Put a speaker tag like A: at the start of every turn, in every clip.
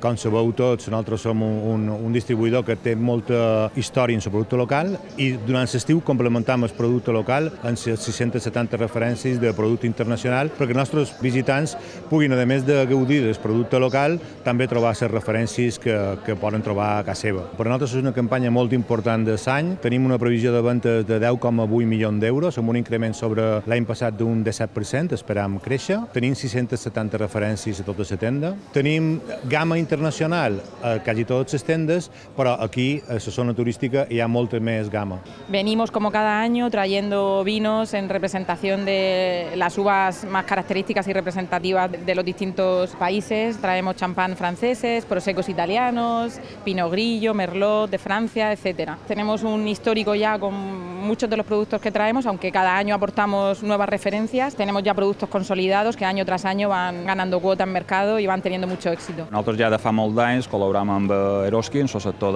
A: Com sabeu tots, nosaltres som un distribuïdor que té molta història en el producte local i durant l'estiu complementam el producte local amb 670 referències de producte internacional perquè els nostres visitants puguin, a més de gaudir del producte local, també trobar les referències que poden trobar a casa seva. Per a nosaltres és una campanya molt important de l'any. Tenim una previsió de ventes de 10,8 milions d'euros, amb un increment sobre l'any passat d'un 17%, esperam créixer. Tenim 670 referències a tota la tenda. Tenim gamma internacional a quasi todas las tiendas, pero aquí, en la zona turística, hay mucha más gama.
B: Venimos como cada año trayendo vinos en representación de las uvas más características y representativas de los distintos países. Traemos champán franceses, prosecos italianos, pinot grillo, merlot de Francia, etc. Tenemos un histórico ya con muchos de los productos que traemos, aunque cada año aportamos nuevas referencias. Tenemos ya productos consolidados que año tras año van ganando cuota en mercado y van teniendo mucho éxito.
C: Nosaltres ja de fa molts d'anys col·laboram amb Eroski en el sector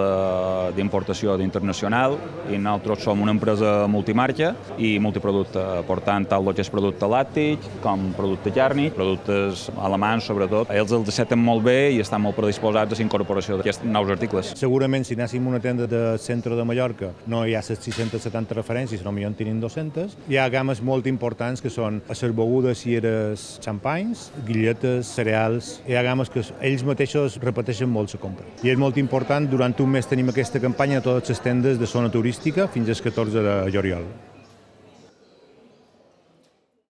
C: d'importació internacional i nosaltres som una empresa multimarca i multiproducte, portant tant el que és producte làctic com producte càrnic, productes alemans sobretot. Ells els accepten molt bé i estan molt predisposats a la incorporació d'aquests nous articles.
A: Segurament si anéssim a una tenda del centre de Mallorca no hi ha les 670 referències, no millor en tenim 200. Hi ha games molt importants que són les begudes i els xampanys, guilletes, cereals. Hi ha games que ells mateixos repeteixen molt la compra. I és molt important, durant un mes tenim aquesta campanya a totes les tendes de zona turística fins al 14 de juliol.